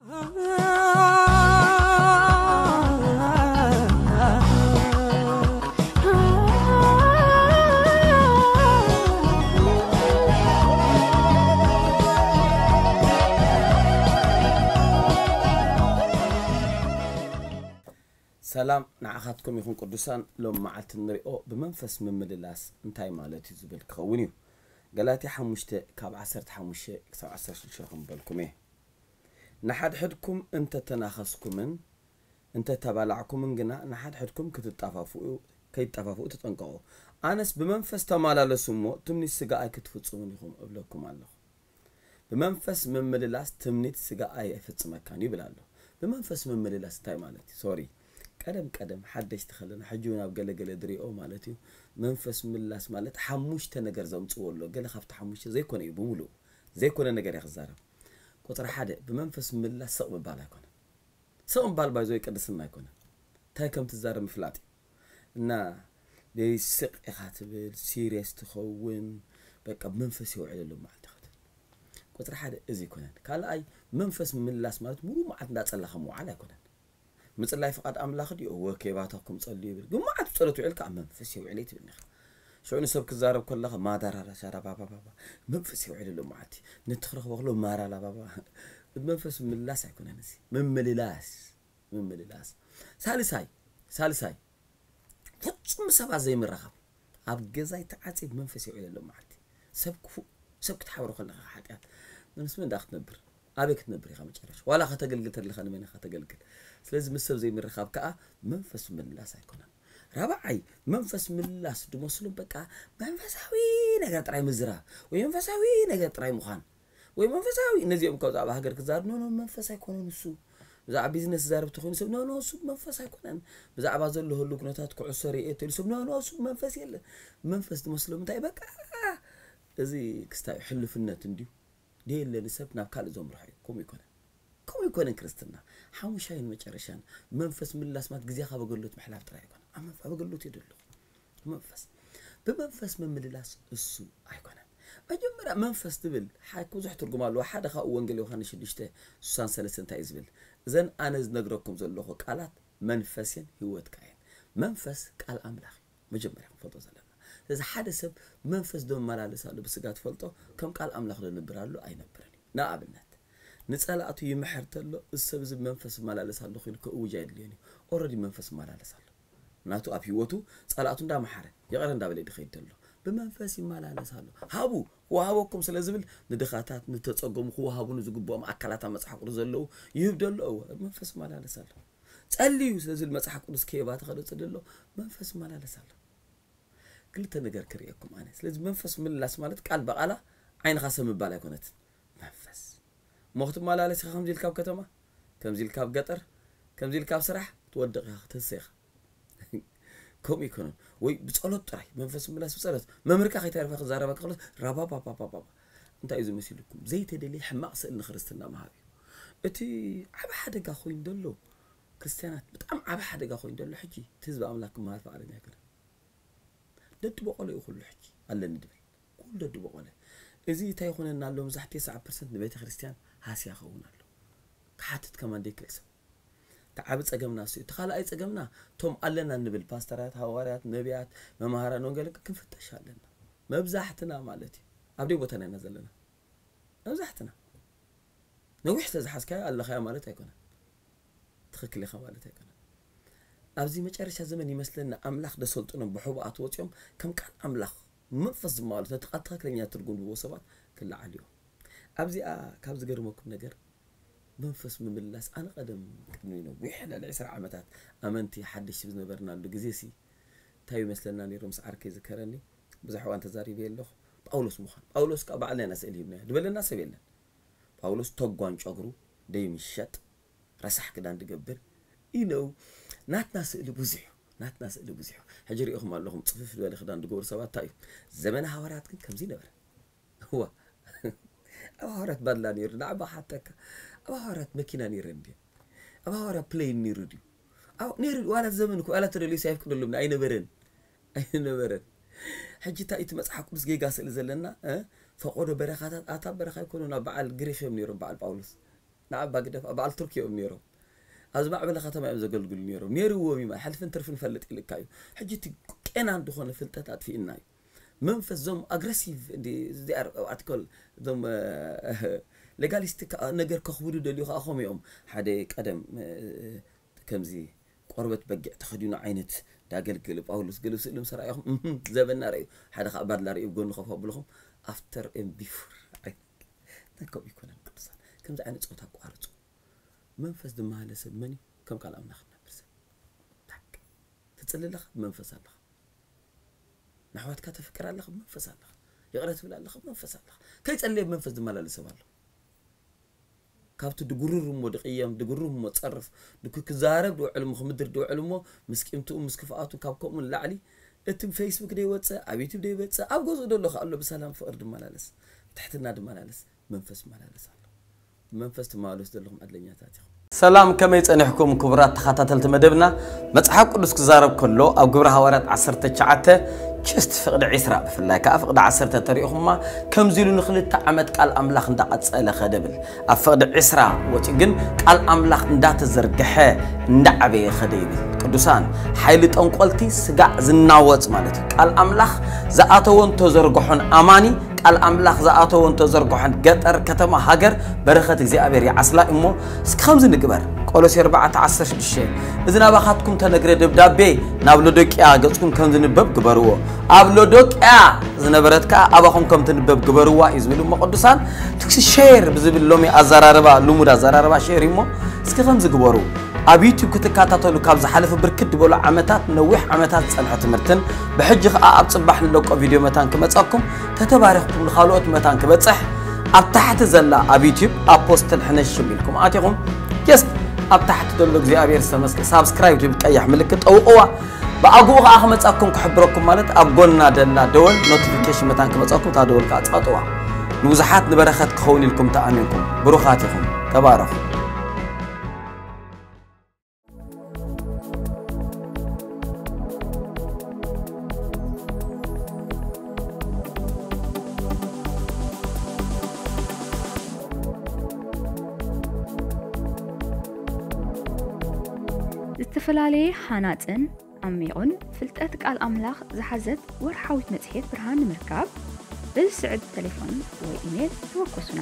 ሰላም ንዓኻትኩም ይኹን ቅዱሳን። ሎም መዓልቲ ንሪኦ ብመንፈስ ምምልላስ እንታይ ማለት እዩ ዝብል ክኸውን እዩ። ገላትያ ሓሙሽተ ካብ ዓሰርተ ሓሙሽተ ክሳብ ዓሰርተ ሽዱሽተ ከም በልኩም እየ። ንሓድሕድኩም እንተተናኸስኩምን እንተተባላዕኩምን ግና ንሓድሕድኩም ክትጣፋፍኡ ከይትጠፋፍኡ ተጠንቀቑ። ኣነስ ብመንፈስ ተማላለሱ እሞ ትምኒት ስጋ ኣይክትፍጽሙን ኢኹም እብለኩም ኣለኹ። ብመንፈስ ምምልላስ ትምኒት ስጋ ኣይፍጽመካን ይብል ኣሎ። ብመንፈስ ምምልላስ እንታይ ማለት እዩ? ሶሪ ቀደም ቀደም ሓደሽቲ ከለና ሕጂ እውን ኣብ ገለ ገለ ድሪኦ ማለት እዩ። መንፈስ ምምላስ ማለት ሓሙሽተ ነገር ዘምፅዎ ኣሎ። ገለ ካብቲ ሓሙሽተ ዘይኮነ እዩ ብምሉእ ዘይኮነ ነገር እየ ክዛረብ። ቁፅሪ ሓደ ብመንፈስ ምምላስ ስቕ ምባል ኣይኮነን። ስቕ ምባል ባይዞ ቅድስና ኣይኮነን። እንታይ ከም ትዛረብ ምፍላጥ እዩ። እና ደይ ስቕ ኢኻ ትብል ሲሪየስ ትኸውን። በቃ ብመንፈስ የውዕለሉ መዓልቲ ክትብል። ቁፅሪ ሓደ እዚ ኣይኮነን። ካልኣይ መንፈስ ምምላስ ማለት ሙሉ መዓልቲ እንዳፀለኻ ምውዓል ኣይኮነን። ምፅላይ ፍቓድ ኣምላኽ ድዩ? እወ ከይባተኹም ጸልዩ ይብል። ግን መዓት ጸሎት ውዒልካ ኣብ መንፈስ የውዕለይ ትብልኒ ኢኻ። ሽዑ ንሰብ ክዛረብ ከለኻ ማዳራራ ሻራ ባባ ባባ መንፈስ የውዕለሉ መዓልቲ ነቲ ክረኽቦ ከሎ ማራላ ባባ መንፈስ ምላስ ኣይኮነን እዚ ምምልላስ ምምልላስ። ሳልሳይ ሳልሳይ ፍጹም ሰባት ዘይምረኻብ ኣብ ገዛይ ተዓጽየ መንፈስ የውዕለሉ መዓልቲ ሰብ ክፉእ ሰብ ክትሓብሮ ከለኻ ሓጢኣት ምስ መን ደኣ ክትነብር ኣበይ ክትነብር ኢኻ መጨረሻ ዋላ ከተገልግል ተለኻ ንመን ኢኻ ተገልግል ስለዚ ምስ ሰብ ዘይምርኻብ ከዓ መንፈስ ምምላስ ኣይኮነን ራብዓይ መንፈስ ምላስ ድመስሎም በቃ መንፈሳዊ ነገር ጥራይ ምዝራብ ወይ መንፈሳዊ ነገር ጥራይ ምዃን ወይ መንፈሳዊ ነዚኦም ካብዚ ኣብ ሃገር ክዛረብ ኖ ኖ መንፈስ ኣይኮነን እሱ ብዛዕባ ቢዝነስ ዝዛረብ ተኮይኑ ሰብ ኖ ኖ እሱ መንፈስ ኣይኮነን ብዛዕባ ዘሎ ህሉ ኩነታት ኩዕሶ ርእየ ተሉ ሰብ ኖ ኖ እሱ መንፈስ የለ መንፈስ ድመስሎም እንታይ በቃ እዚ ክስታይ ሕልፍነት እንድዩ ደየለ ንሰብ ናብ ካልእ ዘምርሖ እዩ ከምኡ ይኮነን ከምኡ ይኮነን ክርስትና ሓሙሻይን መጨረሻን መንፈስ ምላስ ማለት ግዜኻ በገሎት ምሕላፍ ጥራይ ኣይኮነ ኣብ መንፈስ በገሎት እዩ ደሎ መንፈስ ብመንፈስ ምምልላስ እሱ ኣይኮነን መጀመርያ መንፈስ ትብል ሓ ብዙሕ ትርጉም ኣለዎ ሓደ ካብኡ ወንጌል ዮሃንስ ሽዱሽተ ስሳን ሰለስተ እንታይ እዩ ዝብል እዘን ኣነ ዝነግረኩም ዘለኹ ቃላት መንፈስን ህይወትካ እየን መንፈስ ቃል ኣምላኽ እዩ መጀመርያ ክንፈልጦ ዘለና ስለዚ ሓደ ሰብ መንፈስ ዶ መመላለስ ኣሎ ብስጋ ትፈልጦ ከም ቃል ኣምላኽ ዶ ነብር ኣሎ ኣይነብርን እዩ ንኣብነት ንጸላእቱ ይምሕር ተሎ እዚ ሰብ እዚ መንፈስ መላለስ ኣሎ ኮይኑ ከእውጅ ኣይድልዮን እዩ ኦረዲ መንፈስ መላለስ ኣሎ ናቱ ኣብ ህይወቱ ጸላእቱ እንዳመሓረ ይቕረ እንዳበለ ድኸይድ ተሎ ብመንፈስ ይመላለስ ኣሎ ሃቡ ክወሃበኩም ስለ ዝብል ንድኻታት ንተጸገሙ ክወሃቡ ንዝግብኦም ኣካላት ኣብ መጽሓፍ ቅዱስ ዘለዉ ይህብ ደሎ እወ መንፈስ መላለስ ኣሎ ጸልዩ ስለ ዝብል መጽሓፍ ቅዱስ ከየባተኸ ዶ ጸሊ ኣሎ መንፈስ መላለስ ኣሎ ክልተ ነገር ክርእየኩም ኣነ ስለዚ መንፈስ ምላስ ማለት ቃል ብቓላ ዓይንኻ ሰብ ምባል ኣይኮነትን መንፈስ እሞ ክትመላለስ ኢኻ ከምዚ ኢልካ ኣብ ከተማ ከምዚ ኢልካ ኣብ ገጠር ከምዚ ኢልካ ኣብ ስራሕ ትወድቕ ኢኻ ክትህሰ ኢኻ ከምኡ ይኮነን ወይ ብጸሎት ጥራይ መንፈስ ምላስ ብጸሎት መምህርካ ከይተረፈ ክዛረበካ ከሎ ራባባባባባ እንታይ እዩ ዝመሲልኩም ዘይተደልየ ሕማቕ ስእል ንክርስትና ምሃብ እዩ እቲ ዓብ ሓደጋ ኮይኑ ዘሎ ክርስትያናት ብጣዕሚ ዓብ ሓደጋ ኮይኑ ዘሎ ሕጂ እቲ ህዝቢ ኣምላክ ክመሃር ፍቓደኛ ኣይኮነን ደዲ በቆሎ እዩ ኩሉ ሕጂ ኣለኒ ድብል ኩሉ ደዲ በቆሎ እዚ እንታይ ይኾነና ኣሎ መብዛሕትኡ ሰዓ ፐርሰንት ንቤተ ክርስቲያን ሃስያ ኸውን ኣሎ ክሓትት ከማን ደይክእል ሰብ እቲ ዓቢ ጸገምና እሱ እቲ ካልኣይ ጸገምና ቶም ኣለና ንብል ፓስተራት ሃዋርያት ነቢያት መምሃራን ወንጌል ክንፍተሽ ኣለና መብዛሕትና ማለት እዩ ኣብ ደይ ቦታና ኢና ዘለና መብዛሕትና ነዊሕ ተዝሓዝካዮ ኣለኻዮ ማለት ኣይኮነን ትኽክል ኢኻ ማለት ኣይኮነን ኣብዚ መጨረሻ ዘመን ይመስለኒ ኣምላኽ ደሰልጥኖም ብሕቡኣት ወፂኦም ከም ቃል ኣምላኽ መንፈስ ዝማሉት ነቲ ቃል ትኽክለኛ ትርጉም ዝህቦ ሰባት ክለዓሉ እዮም ኣብዚኣ ካብ ዝገርመኩም ነገር መንፈስ ምምላስ ኣነ ቀደም ቅድሚ ነዊሕ ልዕሊ ዕስራ ዓመታት ኣመንቲ ሓደሽቲ ዝነበርናሉ ግዜ ሲ እንታይ ይመስለና ነይሩ ምስ ዓርከይ ዝከረኒ ብዙሕ እዋን ተዛሪበ ኣለኹ ጳውሎስ ምዃን ጳውሎስ ከዓ ባዕልና ኢና ስእል ሂብናዮ ዝበለና ሰብ የለን ጳውሎስ ተጓን ጨጉሩ ደይምሸጥ ረሳሕ ክዳን ድገብር ኢነው ናትና ስእሊ ብዙሕ እዩ ናትና ስእሊ ብዙሕ እዩ ሕጂ ሪኢኹም ኣለኹም ፅፍፍ ዝበለ ክዳን ድገብሩ ሰባት እንታይ እዩ ዘመነ ሃዋርያት ግን ከምዚ ነበረ እዋ ኣብ ሃዋርያት ባድላ ነይሩ ንዓባ ሓተካ ኣብ ሃዋርያት መኪና ነይረ እንዲ ኣብ ሃዋርያት ፕሌን ነይሩ ድዩ ነይሩ ዋላ ዘመን እኮ ዋላ ተደልዩ ኣይፍቅደሎም ኣይነበረን ኣይነበረን ሕጂ እንታይ እቲ መፅሓፍ ቅዱስ ጌጋ ስእሊ ዘለና ፈቆዶ በረኻታት ኣታ በረኻ ይኮኑ ናብ በዓል ግሪክ እዮም ነይሮም በዓል ጳውሎስ ንዓባ ግደፍ፣ ኣብ በዓል ቱርኪ እዮም ነይሮም። ኣብዚ ማዕበለ ከተማ እዮም ዘገልግሉ ነይሮም። ነይርዎም እዩ፣ ሕልፍን ትርፍን ፈልጥ ኢልካ እዩ። ሕጂ እቲ ቄናን ዝኾነ ፍልጠት ኣጥፊእና እዩ። መንፈስ ዞም ኣግረሲቭ ኣትኮል ዞም ሌጋሊስት ነገር ከኽብዱ ደልዩ ከዓ ከምኡ እዮም። ሓደ ቀደም ከምዚ ቆርበት በጊዕ ተኸዲኑ ዓይነት ዳገልግል ጳውሎስ ገለ ስእሊ ምስ ረኣኹም ዘበና ረእዩ። ሓደ ከዓ ባድላ ርእዩ ጎኒ ከፍ ኣብልኹም ኣፍተር ኤም ቢፎር። ከምኡ ይኮነን ቅዱሳን። ከምዚ ዓይነት ፆታ ኣቋርፁ። መንፈስ ዝመሃለ ሰብ መን እዩ? ከም ቃል ኣምላኽ እነብር ሰብ። ታክ። ትፅሊ ኣለኻ? ብመንፈስ ኣለኻ። ንኣሕዋትካ ተፍቅር ኣለኻ? ብመንፈስ ኣለኻ። ይቕረ ትብል ኣለኻ? ብመንፈስ ኣለኻ። ከይጸለየ ብመንፈስ ዝመላለስ ሰብ ኣሎ። ካብቲ ድጉርር እሞ ድቕየም፣ ድጉርር እሞ ጸርፍ፣ ድኩ ክዛረብ ድውዕል እሞ ክምድር ድውዕል እሞ ምስ ቂምትኡ ምስ ክፍኣቱ ካብ ከምኡ ንላዕሊ እቲ ፌስቡክ ደይወፀ፣ ኣብ ዩቱብ ደይወፀ፣ ኣብ ገዝኡ ደሎ ከ ኣሎ ብሰላም ፍቕሪ ድመላለስ፣ ብትሕትና ድመላለስ፣ መንፈስ ይመላለስ ኣሎ። ብመንፈስ ትመላለሱ ዘለኹም ዕድለኛታት ኢኹም። ሰላም፣ ከመይ ጸኒሕኩም ክቡራት ተኸታተልቲ መደብና? መጽሓፍ ቅዱስ ክዛረብ ከሎ ኣብ ግብረ ሃዋርያት ዓሰርተ ትሽዓተ ችስት ፍቕዲ ዕስራ ብፍላይ ከኣ ፍቕዲ ዓሰርተ ተሪእኹማ ከምዚ ኢሉ ንኽልተ ዓመት ቃል ኣምላኽ እንዳቐጸለ ኸደ ብል። ኣብ ፍቕዲ ዕስራ ወጺኡ ግን ቃል ኣምላኽ እንዳተዘርግሐ እንዳዓበየ ኸደ ይብል። ቅዱሳን፣ ሓይሊ ጠንቆልቲ ስጋዕ ዝናወጽ ማለት እዩ። ቃል ኣምላኽ ዝኣተወን ተዘርግሖን ኣማኒ ቃል ኣምላኽ ዝኣተወን ተዘርግሖን ገጠር፣ ከተማ፣ ሃገር በረኸት እግዚኣብሔር ይዓስላ እሞ እስኪ ከምዚ ንግበር። ቆሎሴ ኣርባዕተ ዓሰርተ ሽዱሽተ፣ እዚ ናባኻትኩም ተነግረ ደብዳቤ ናብ ሎዶቅያ ገጽኩም ከም ዝንበብ ግበርዎ። ኣብ ሎዶቅያ ዝነበረት ከኣ ኣባኹም ከም ትንበብ ግበርዋ እዩ ዝብል እሞ ቅዱሳን። ትክሲ ሼር ብዝብል ሎሚ ኣዘራርባ፣ ልሙድ ኣዘራርባ ሼር እዩ እሞ እስኪ ከምዚ ግበሩ። ኣብ ዩቲዩብ ክትከታተሉ ካብ ዝሓለፈ ብርክት ዝበሉ ዓመታት፣ ነዊሕ ዓመታት ዝጸንሐ ትምህርትን ብሕጂ ከኣ ኣብ ጽባሕ ንለቆ ቪድዮ መታን ክመጸኩም፣ ተተባሪኽኩም ንኻልኦት መታን ክበጽሕ ኣብ ታሕቲ ዘላ ኣብ ዩቲዩብ ኣፖስትል ሕነሽም ኢልኩም ኣቲኹም ጀስት ኣብ ታሕቲ ዘሎ እግዚኣብሔር ዝተመስገ ሳብስክራይብ ትብል ቀያሕ ምልክት ጠውቕዋ። ብኣግኡ ከኣ ክመጻኩም ክሕብረኩም ማለት ኣብ ጎና ደላ ደወል ኖቲፊኬሽን መታን ክመጻኩም እታ ደወል ከኣ ጻጥዋ። ንብዙሓት ንበረኸት ክኸውን ኢልኩም ተኣሚንኩም ብሩኻት ኢኹም። ተባረኹ። ዝተፈላለየ ሃናጽን ዓሚቑን ፍልጠት ቃል ኣምላኽ ዝሓዘት ወርሓዊት መጽሔት ብርሃን ንምርካብ፣ በዚ ስዕብ ተሌፎን ወይ ኢሜል ተወከሱና።